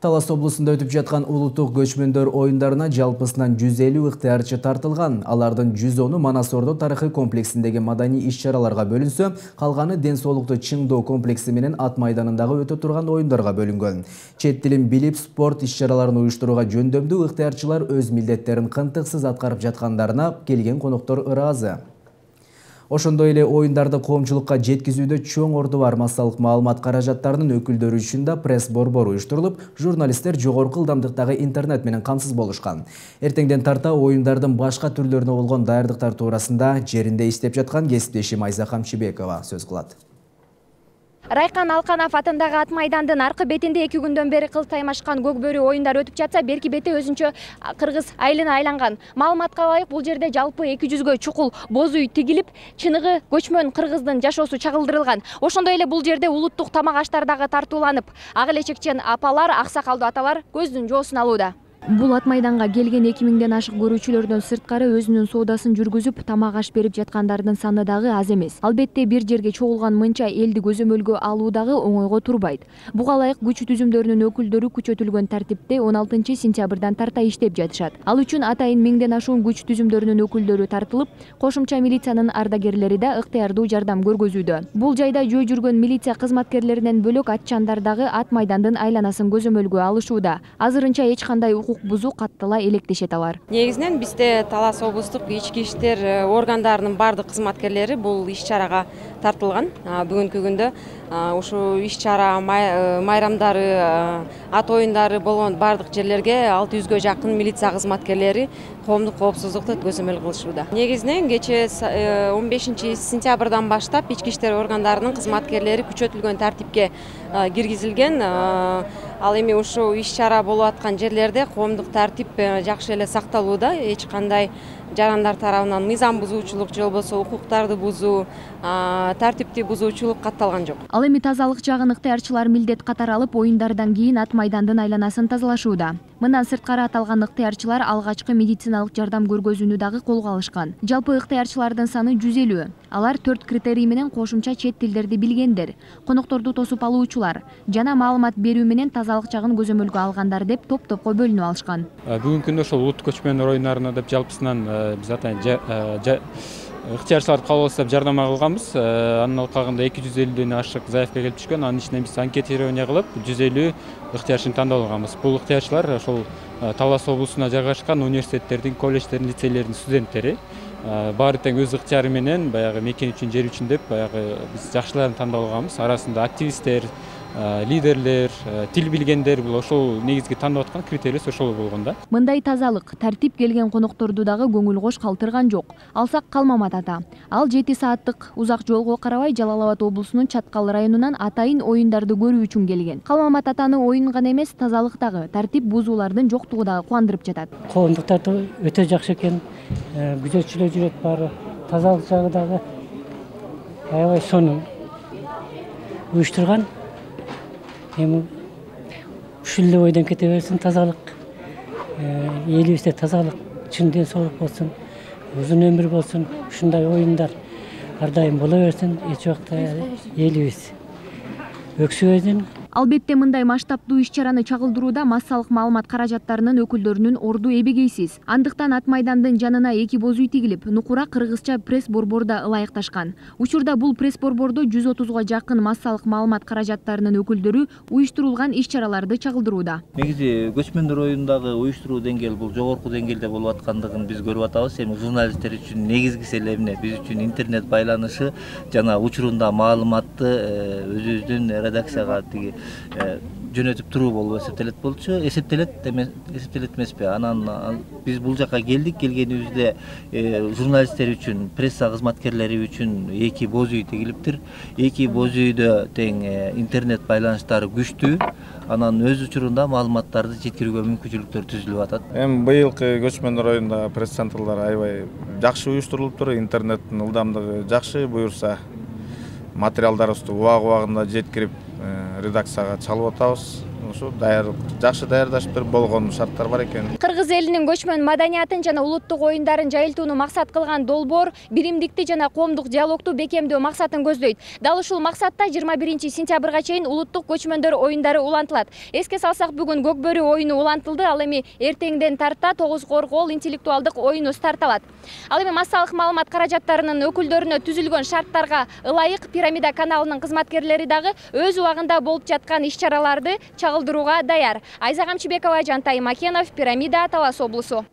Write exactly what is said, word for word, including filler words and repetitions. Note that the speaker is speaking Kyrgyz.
Талас облусунда өтүп жаткан улуттук көчмөндөр оюндарына жалпысынан жүз элүү ыктыярчы тартылган. Алардын жүз оны Манас Ордо тарыхый комплексиндеги маданий иш-чараларга бөлүнсө, калганы ден соолукту чыңдоо комплекси менен ат майданындагы өтө турган оюндарга бөлүнгөн. Чет тилин билип, спорт иш-чараларын уюштурууга жөндөмдүү ыктыярчылар өз милдеттерин кынтыксыз аткарып жаткандарына келген коноктор ыраазы. Ошондой эле оюндарды коомчулукка жеткизүүдө чоң орду бар массалык маалымат каражаттарынын өкүлдөрү үчүн да пресс борбор уюштурулуп, журналисттер жогорку ылдамдыктагы интернет менен камсыз болушкан. Эртеңден тарта оюндардын башка түрлөрүнө болгон даярдыктар туурасында жеринде иштеп жаткан кесиптешим Айза Камчыбекова сөз кылат. Райкан Алканов атындагы ат майдандын аркы бетинде эки күндөн бери кыл таймашкан көк бөрү оюндары өтүп жатса, берки бети өзүнчө кыргыз айылына айланган. Маалыматка ылайык, бул жерде жалпы эки жүзгө чукул боз үй тигилип, чыныгы көчмөн кыргыздын жашоосу чагылдырылган. Ошондой эле бул жерде улуттук тамак аштар дагы тартууланып, ак элечекчен апалар, аксакалдуу аталар көздүн жоосун алууда. Бул ат майданга келген эки миңден ашык көрүүчүлөрдөн сырткары өзүнүн соодасын жүргүзүп, тамак аш берип жаткандардын саны дагы аз эмес. Албетте бир жерге чогулган мынча элди көзөмөлгө алуу дагы оңойго турбайт. Буга ылайык күч түзүмдөрүнүн өкүлдөрү күчөтүлгөн тартипте он алтынчы сентябрдан тарта иштеп жатышат. Ал үчүн атайын миңден ашуун күч түзүмдөрүнүн өкүлдөрү тартылып, кошумча милициянын ардагерлери да ыктыярдуу жардам көргөзүүдө. Бул жайда жөө жүргөн милиция кызматкерлеринен бөлөк атчандар дагы ат майдандын айланасын көзөмөлгө алышууда. Азырынча эч кандай бузуу каттала электешет алар. Негизинен бизде Талас облустук ички иштер органдарынын бардык кызматкерлери бул иш-чарага тартылган. Бүгүнкү күндө ушул иш-чара майрамдары, ат оюндары болгон бардык жерлерге алты жүзгө жакын милиция кызматкерлери коомдук коопсуздукту көзөмөл кылышууда. Негизинен кечээ он бешинчи сентябрдан баштап ички иштер органдарынын кызматкерлери күчөтүлгөн тартипке киргизилген. Ал эми ушул иш-чара болуп аткан жерлерде коомдук тартип жакшы эле сакталууда. Эч кандай жарандар тарабынан мыйзам бузуучулук же болбосо укуктарды бузуу, тартипти бузуучулук катталган жок. Ал эми тазалык жагын ыктыярчылар милдет катары алып, оюндардан кийин ат майдандын айланасын тазалашууда. Мындан сырткары аталган ыктыярчылар алгачкы медициналык жардам көргөзүүнү дагы колго алышкан. Жалпы ыктыярчылардын саны жүз элүү. Алар төрт критерий менен кошумча чет тилдерди билгендер, конокторду тосуп алуучулар жана маалымат берүү менен тазалык жагын көзөмөлгө алгандар деп топ-топко бөлүнүп алышкан. Бүгүнкү күндө ошол улуттук көчмөндөр оюндарына деп жалпысынан биз атайын ыктыярчыларды кабыл алып жардам кылганбыз. Анын алкагында эки жүз элүүдөн ашык заявка келип түшкөн. Анын ичинен биз анкетирование кылып жүз элүү ыктыярчыны тандап алганбыз. Бул ыктыярчылар ошол Талас облусуна жайгашкан университеттердин, колледждердин, лицейлердин студенттери. Баары тең өз ыктыяры менен баягы мекен үчүн, жер үчүн деп баягы биз жакшыларын тандап алганбыз. Арасында активисттер, лидерлер, тил билгендер, бул ошол негизги тандап аткан критерийлер ошол болгон да. Мындай тазалык, тартип келген конокторду дагы көңүл кош калтырган жок. Алсак Калмамат ата. Ал жети сааттык узак жолго карабай Жалал Абад облусунун Чаткал районунан атайын оюндарды көрүү үчүн келген. Калмамат атаны оюн гана эмес, тазалык дагы, тартип бузуулардын жоктугу дагы кубандырып жатат. Коомдук тартып өтө жакшы экен. Күзөтчүлөр жүрөт баары, тазалык жагы дагы аябай сонун уюштурган. Эми ушул эле ойдон кете берсин, тазалык, элибизде тазалык, чын ден соолук болсун, узун өмүр болсун, ушундай оюндар ар дайым боло берсин, эч убакта элибиз өксүбөсүн. Албетте мындай масштабдуу иш-чараны чагылдырууда массалык маалымат каражаттарынын өкүлдөрүнүн орду эбегейсиз. Андыктан ат майдандын жанына эки боз үй тигилип, нукура кыргызча пресс борборда ылайыкташкан. Учурда бул пресс борбордо жүз отузга жакын массалык маалымат каражаттарынын өкүлдөрү уюштурулган иш-чараларды чагылдырууда. Негизи көчмөндөр оюндагы уюштуруу деңгээли бул жогорку деңгээлде болуп аткандыгын биз көрүп атабыз. Эми журналисттер үчүн негизгиси эле эмне, биз үчүн интернет байланышы жана учурунда маалыматты өзүбүздүн редакцияга тиги жөнөтүп туруу болуп эсептелет болчу. Эсептелет эмес, эсептелет эмеспи? Анан биз бул жака келдик. Келгенибизде журналисттер үчүн, пресса кызматкерлери үчүн эки боз үй тигилиптир. Эки боз үйдө тең интернет байланыштары күчтүү. Анан өз учурунда маалыматтарды жеткирүүгө мүмкүнчүлүктөр түзүлүп атат. Эми быйылкы көчмөндөр оюнда пресс-центрлар аябай жакшы уюштурулуптур. Интернеттин ылдамдыгы жакшы, буюрса материалдарыбызды убак убагында жеткирип редакцияга чалып атабыз. ушу даяр жакшы даярдашып болгон шарттар бар экен. Кыргыз элинин көчмөн маданиятын жана улуттук оюндарын жайылтууну максат кылган долбоор биримдикти жана коомдук диалогту бекемдөө максатын көздөйт. Дал ушул максатта жыйырма биринчи сентябрга чейин улуттук көчмөндөр оюндары улантылат. Эске салсак, бүгүн көк бөрү оюну улантылды. Ал эми эртеңден тарта тогуз коргоол интеллектуалдык оюну старталат. Ал эми массалык маалымат каражаттарынын өкүлдөрүнө түзүлгөн шарттарга ылайык Пирамида каналынын кызматкерлери дагы өз убагында болуп жаткан иш-чараларды чагылдырууга даяр. Айза Камчыбекова, Жантай Макенов, Пирамида, Талас облусу.